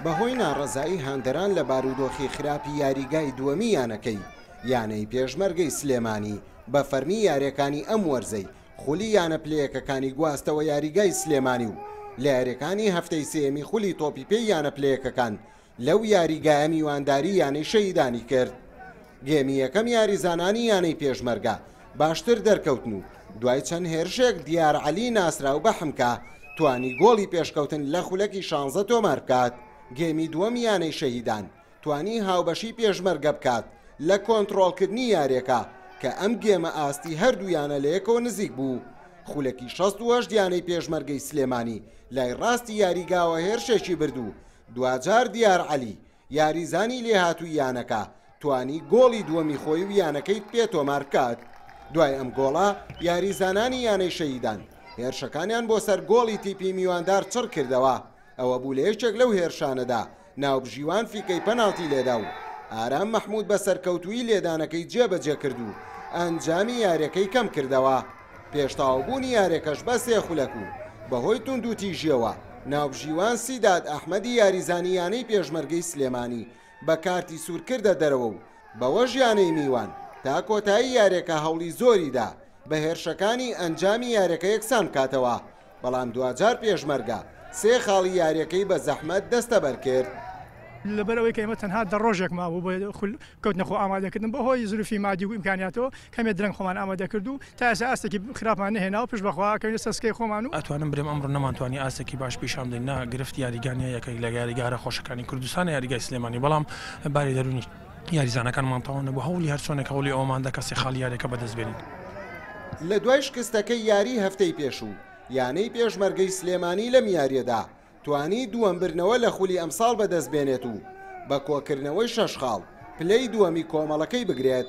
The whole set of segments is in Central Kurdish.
بەهۆی ناڕەزایی هاندەران لە بارودۆخی خراپی یاریگای دووەمی یانەکەی، یانەی پێشمەرگەی سلێمانی بە فەرمی یاریەکانی ئەم وەرزەی خولی یانە پلەیەکەکانی گواستەوە یاریگای سلێمانی و لە یاریەکانی هەفتەی سێیەمی خولی تۆپی پێی یانە پلەیەکەکان لەو یاریگایە میوانداری یانەی شەهیدانی کرد. گێمی یەکەم یاریزانانی یانەی پێشمەرگە باشتر دەرکەوتن و دوای چەند هێرشێک دیار عەلی ناسراو بە حمکە توانی گۆڵی پێشکەوتن لە خولەکی شانزە تۆمار بکات. گێمی دووەم یانەی شەهیدان توانی هاوبەشی پێشمەرگە بکات لە کۆنتڕۆڵکردنی یاریەکە کە ئەم گێمە ئاستی هەردوو یانە لەیەکەوە نزیک بوو. خولەکی 68 یانەی پێشمەرگەی سلێمانی لای ڕاستی یاریگاوە هێرشێکی برد و دواجار دیار عەلی یاریزانی لێهاتووی یانەکە توانی گۆڵی دووەمی خۆی و یانەکەی پێ تۆمار بکات. دوای ئەم گۆڵە یاریزانانی یانەی شەهیدان هێرشەکانیان بۆ سەر گۆڵی تیپی میواندار چڕ کردەوە، ئەوە بوو لە یەکێک لەو هێرشانەدا ناوبژیوان فیکەی پەناڵتی لێدا و ئارام مەحمود بە سەرکەوتوویی لێدانەکەی جێبەجێ کرد و ئەنجامی یاریەکەی کەم کردەوە. پێش تەواوبوونی یاریەکەش بە سێ خولەک و بەهۆی توندوتیژیەوە ناوبژیوان سیداد ئەحمەدی یاریزانی یانەی پێشمەرگەی سلێمانی بە کارتی سوور کردە دەرەوە و بەوەش یانەی میوان تا کۆتایی یاریەکە هەوڵی زۆریدا بە هێرشەکانی ئەنجامی یاریەکە یەکسان بکاتەوە، بەڵام دواجار پێشمەرگە سێ خاڵی یاریەکەی بە زەحمەت دەستەبەر کرد. لەبەر ئەوەی کە ئێمە تەنها دە ڕۆژێک مابوو بۆ خول کەوتنە خۆ ئامادەکردن بەهۆی زروفی مادی و ئیمکانیاتەوە کەمێ درەنگ خۆمان ئامادە کرد و تا ئێستا ئاستێکی خراپمان نەهێناوە پشت بەخوا ئەکەوینە سەر سکەی خۆمان و. ئەتوانم برێم ئەمڕۆ نەمانتوانی ئاستێکی باش پیشان بدەین نا گرفت یاریگا نیە یەکێک لە یاریگا هەرە خۆشەکانی کوردستانە یاریگای سلێمانی بەڵام باری دەروونی یاریزانەکانمان تەواو نەبوو هەوڵی هەرچۆنێک هەوڵی ئەوەمان دا کە سێ خاڵی یاریەکە بەدەست بێنین. لە دوای شکستەکەی یاریی هەفتەی پێشوو، یانەی پێشمەرگەی سلێمانی لەم یارییەدا توانی دووەم بردنەوە لە خولی ئەمساڵ بەدەستبێنێت و بە کۆکردنەوەی شەش خاڵ پلەی دووەمی کۆمەڵەکەی بگرێت،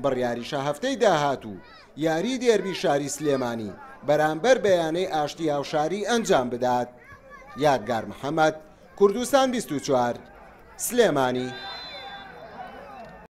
بڕیاریشە هەفتەی داهاتوو یاریی دێربی شاری سلێمانی بەرامبەر بە یانەی ئاشتی هاوشاری ئەنجام بدات. یادگار محەمەد، کوردستان 24، سلێمانی.